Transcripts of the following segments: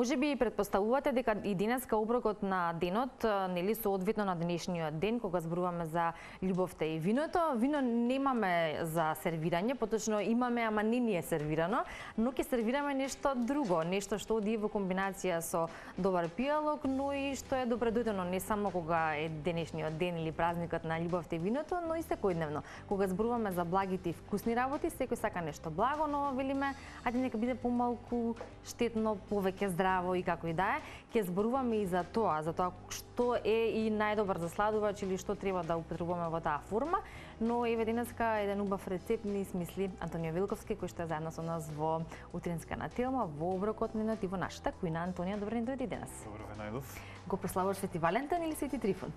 Можеби претпоставувате дека и денеска оброкот на денот, нели соодветно на денешниот ден, кога зборуваме за љубовта и виното, вино немаме за сервирање, поточно имаме, ама не ни е сервирано, но ќе сервираме нешто друго, нешто што оди во комбинација со добар пијалок, но и што е добредојдено не само кога е денешниот ден или празникот на љубовта и виното, но и секојдневно. Кога зборуваме за благите и вкусни работи, секој сака нешто благо, но велиме, ајде нека биде помалку штетно, повеќе здраво и како и да е, ќе зборуваме и за тоа што е и најдобар засладувач или што треба да употребуваме во таа форма, но еве денеска еден убав рецепт ни смисли Антонио Вилковски, кој што е заедно со нас во утринска на Телма, во оброкот на и во нашата кујна. Антонија, добро ни дојди денес. Добро ве најдов. Го прославуваш Свети Валентин или Свети Трифон?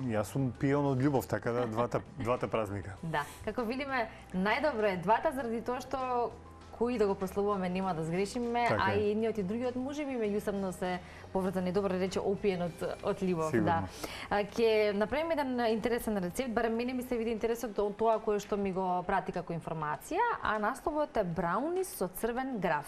Јас сум пион од љубов, така да двата празника. Да, како видиме, најдобро е двата заради тоа што кои да го прославуваме нема да сгрешиме, така, а и едниот и другиот можеби меѓусебно се поврзани, добро рече, опиен од љубов. Сигурно. Да. Ќе направиме еден интересен рецепт, барем мене ми се види интересот од тоа кое што ми го прати како информација, а насловот е брауни со црвен граф.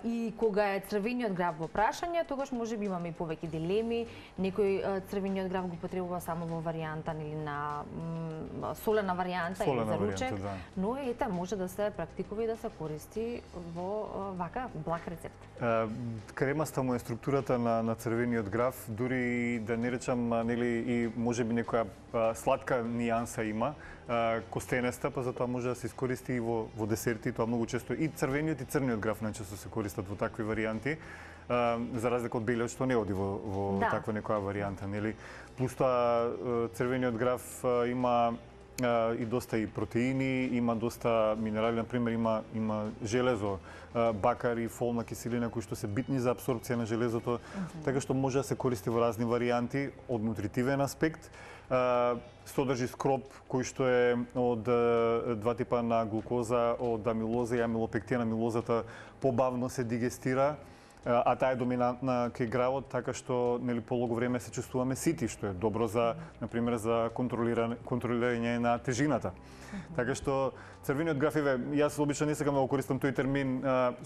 И кога е црвениот граф во прашање, тогаш можеби имаме и повеќе дилеми. Некој црвениот граф го потребува само во варијанта или на солена варијанта или за ручек, да. но ете може да се практикува и да се користи во вака благ рецепт. Кремаста му е структурата на црвениот граф, дури да не речам нели и можеби некоја сладка нијанса има, костенеста, па затоа може да се искористи и во десерти, тоа многу често и црвениот и црниот граф најчесто се користат во такви варијанти, за разлика од белиот што не оди во таква некоја варијанта, нели? Плюс тоа црвениот граф има и доста и протеини, има доста минерали, например има железо, бакар и фолна киселина кои што се битни за апсорбција на железото, така што може да се користи во разни варијанти од нутритивен аспект. Содржи скроп кој што е од два типа на глукоза, од амилоза и амилопектин. Амилозата побавно се дигестира, а таа е доминантна кај гравот, така што нели полого време се чувствуваме сити, што е добро за, например, за контролирање на тежината. Така што црвениот граф, јас обично не сакам да го користам тој термин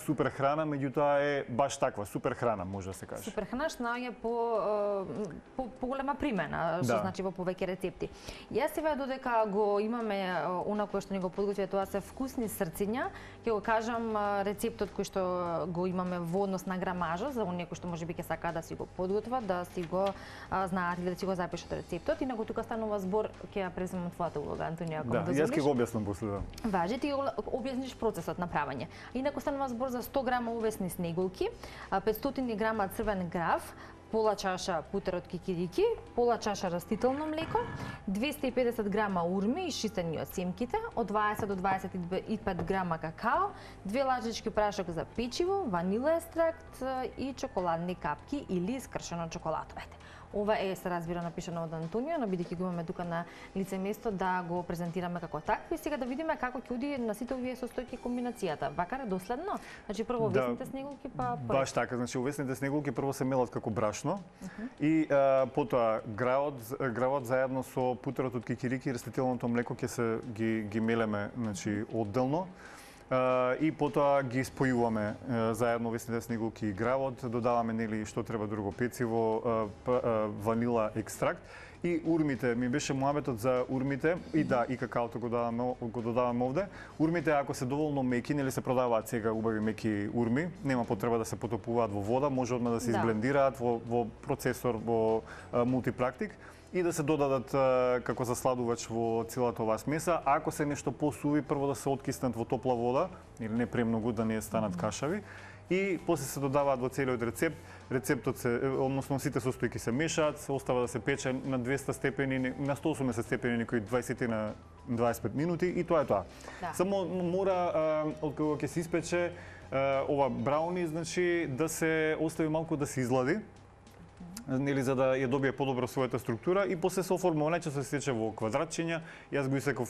супер храна, меѓутоа е баш таква, супер храна може да се каже. Супер храна што наоѓа по голема примена, што значи во повеќе рецепти. Јас сега додека го имаме она кое што ни го подготвија, тоа се вкусни срциња, ќе го кажам рецептот кој што го имаме во однос на грамажа, за оние кои што можеби ќе сакаат да си го подготват, да си го знаат или да си го запишат рецептот. Инаку тука станува збор, ќе ја преземам твојата улога, Антонија, ако да, јас ќе го објаснам после. Важи, ти објасниш процесот на правење. Инаку станува збор за 100 грама увесни снеголки, 500 грама црвен граф, пола чаша путер од кикирики, пола чаша растително млеко, 250 грама урми исчистени од семките, од 20 до 25 грама какао, 2 лажички прашок за печиво, ванила екстракт и чоколадни капки или скршено чоколадо. Ова е, се разбира, напишано од Антонио, но бидејќи го имаме тука на лице место да го презентираме како такво и сега да видиме како ќе оди на сите овие состојки комбинацијата. Вака е доследно? Значи прво увесните снеголки, па баш така, значи увесните снеголки прво се мелат како брашно и потоа гравот заедно со путерот од кикирики и растителното млеко ќе се ги мелеме, значи одделно. И потоа ги спојуваме заедно увесните снеголки и гравот, додаваме нели што треба друго, пециво, ванила екстракт и урмите. Ми беше муабетот за урмите и да, и какаото го додаваме овде. Урмите ако се доволно меки, нели се продаваат сега убави меки урми, нема потреба да се потопуваат во вода, може одма да се изблендираат во процесор, во мултипрактик и да се додадат како засладувач во целата оваа смеса. Ако се нешто посуви, прво да се откиснат во топла вода, или не премногу да не станат кашави, и после се додаваат во целиот рецепт. Рецептот се, односно сите состојки се мешаат, се остава да се пече на 200 степени, на 180 степени некои 20 на 25 минути и тоа е тоа. Да. Само мора од кога ќе се испече ова брауни, значи да се остави малку да се излади, нели за да ја добие подобро својата структура и после се оформува, најчесто се сече во квадратчиња. Јас го исеков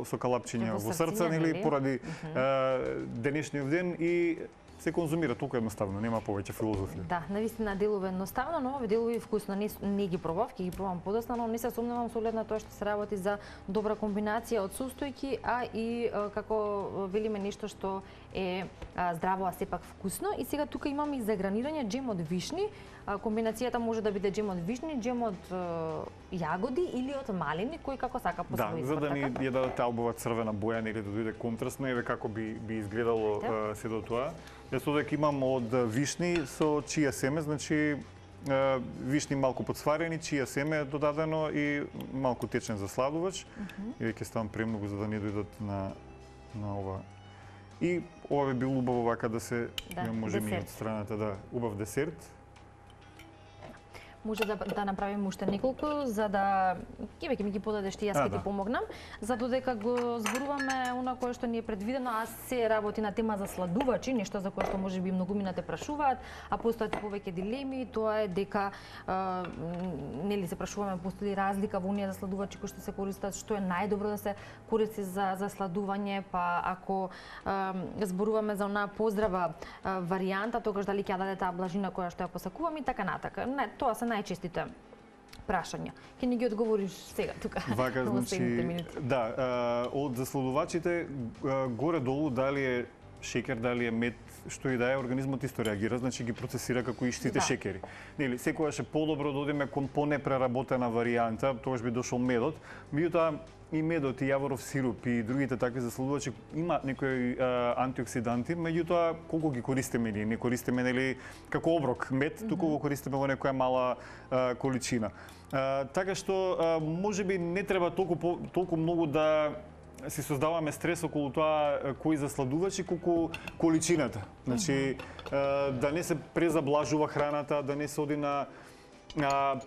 со калапчиња во срца, нели поради денешниот ден и се конзумира толку едноставно, нема повеќе филозофија. Да, навистина делува едноставно, но овие делови вкусно. Не ги пробав, ќе ги пробам подоцна, но не се сомневам со оглед на тоа што се работи за добра комбинација од состојки, а и како велиме нешто што е здраво, а сепак вкусно. И сега тука имаме и за гранирање джем од вишни. Комбинацијата може да биде джем од вишни, джем од јагоди или од малини, кој како сака по свој избор. Да, за да ни ја дадат таа убава црвена боја, нели да дојде контрастно, еве како би изгледало сето тоа. Јас овде имам од вишни со чија семе, значи вишни малку подсварени, чија семе е додадено и малку течен засладувач. И ќе ставам премногу за да не дојдат на ова. И ова би било убаво вака да се може ми од страната убав десерт. Може да направиме уште неколку, за да ќе ми ги подадеш ти, јас ќе ти помогнам, за додека го зборуваме она кое што ни е предвидено, а се работи на тема за сладувачи, нешто за кое што можеби многумина те прашуваат, а постојат повеќе дилеми, тоа е дека нели се прашуваме постои ли разлика во оние засладувачи кои што се користат, што е најдобро да се користи за сладување, па ако зборуваме за онаа поздрава варијанта, тогаш дали ќе даде таа блажина која што ја посакуваме и така натака. Не, тоа се најчестите прашања. Ке ни ги одговориш сега тука. Вака, значи, да, од засладувачите горе-долу дали е шекер, дали е мед, што и да е, организмот исто реагира, значи ги процесира како иштите шекери. Нели, секогаш е подобро да одиме кон понепреработена варијанта, тогаш би дошол медот. Меѓутоа и медот, и јаворов сируп и другите такви засладувачи има некои антиоксиданти, меѓутоа колку ги користиме ние? Не користиме нели како оброк мед, туку го користиме во некоја мала количина. Така што можеби не треба толку многу да си создаваме стрес околу тоа кои засладувачи, колку количината. Значи да не се презаблажува храната, да не се оди на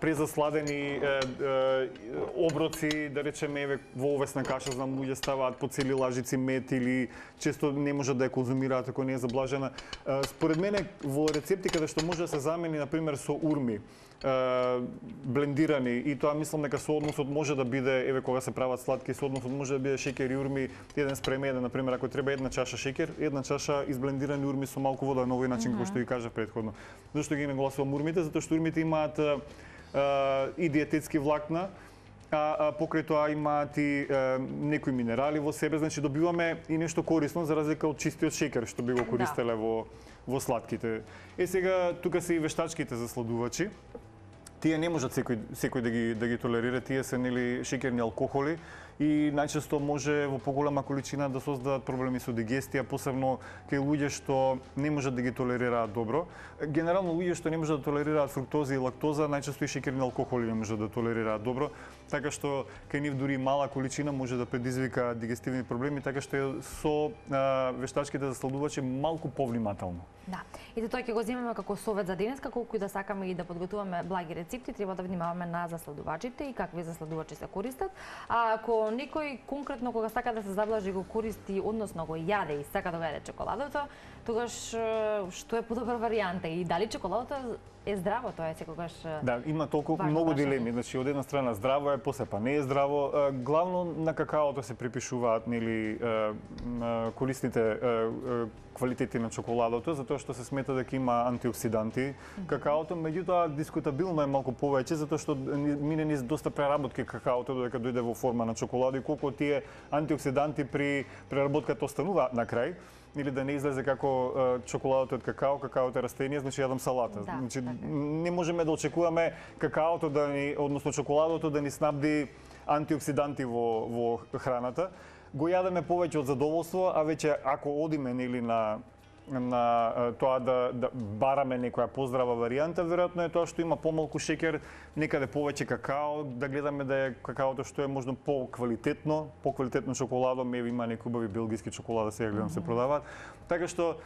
презасладени оброци, да речеме, еве во овесна каша, знам луѓе ставаат по цели лажици мед или често не можат да ја конзумираат ако не е заблажена. Според мене во рецепти каде што може да се замени на пример со урми, блендирани, и тоа мислам дека соодносот може да биде, еве кога се прават сладки, соодносот може да биде шеќер и урми 1:1, на пример, ако треба една чаша шеќер, една чаша изблендирани урми со малку вода, на овој начин како што ви кажав претходно. Зошто ги нагласувам урмите? Затоа што урмите имаат и диететски влакна, а покрај тоа имаат и некои минерали во себе, значи добиваме и нешто корисно за разлика од чистиот шеќер што би го користеле во сладките. Сега тука се и вештачките засладувачи. Тие не можат секој да ги толерира, тие се нели шеќерни алкохоли и најчесто може во поголема количина да создадат проблеми со дигестија, посебно кај луѓе што не можат да ги толерираат добро. Генерално луѓе што не можат да толерираат фруктоза и лактоза, најчесто и шеќерни алкохоли не можат да толерираат добро, така што кај нив дури мала количина може да предизвика дигестивни проблеми, така што со вештачките засладувачи малку повнимателно. Да. И тоа ќе го земеме како совет за денеска, колку и да сакаме и да подготуваме благи рецепти, треба да внимаваме на засладувачите и какви засладувачи се користат. А ако некој конкретно кога сака да се заблажи го користи, односно го јаде и сака да го јаде чоколадото, тогаш што е подобра варијанта и дали чоколадото е здраво, тоа е секогаш. Да, има толку многу дилеми, значи од една страна здраво е, после па не е здраво. Главно на какаото се припишуваат нели корисните квалитети на чоколадото, затоа што се смета дека има антиоксиданти какаото, меѓутоа дискутабилно е малку повеќе затоа што мине низ доста преработки какаото додека дојде во форма на чоколада и колку тие антиоксиданти при преработката остануваат на крај, или да не излезе како чоколадото од какао, какаото е растение, значи јадам салата. Да, значи не можеме да очекуваме какаото да ни, односно чоколадото да ни снабди антиоксиданти во храната. Го јадеме повеќе од задоволство, а веќе ако одиме нели на тоа да бараме некоја поздрава варијанта, веројатно е тоа што има помалку шеќер, некаде повеќе какао, да гледаме да е какаото што е можно поквалитетно чоколадо, еве има некои убави белгиски чоколада сега гледам се продаваат. Така што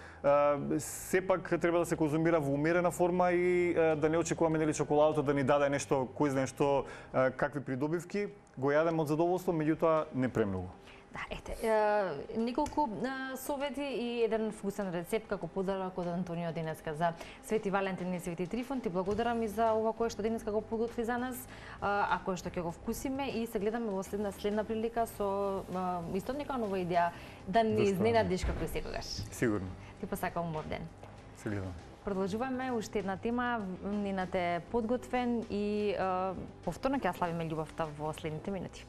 сепак треба да се конзумира во умерена форма и да не очекуваме нели чоколадото да ни даде нешто, кој знае што, какви придобивки, го јадеме од задоволство, меѓутоа не премногу. Да, неколку совети и еден вкусен рецепт како подарок од Антонио денеска за Свети Валентин и Свети Трифон. Ти благодарам и за ова кое што денеска го подготви за нас, а кое што ќе го вкусиме и се гледаме во следна прилика со исто нека нова идеја да не изненадиш како и секогаш. Сигурно. Ти посакам убав ден. Се гледаме. Продолжуваме уште една тема, Нинат е подготвен и повторно ќе ја славиме љубовта во следните минути.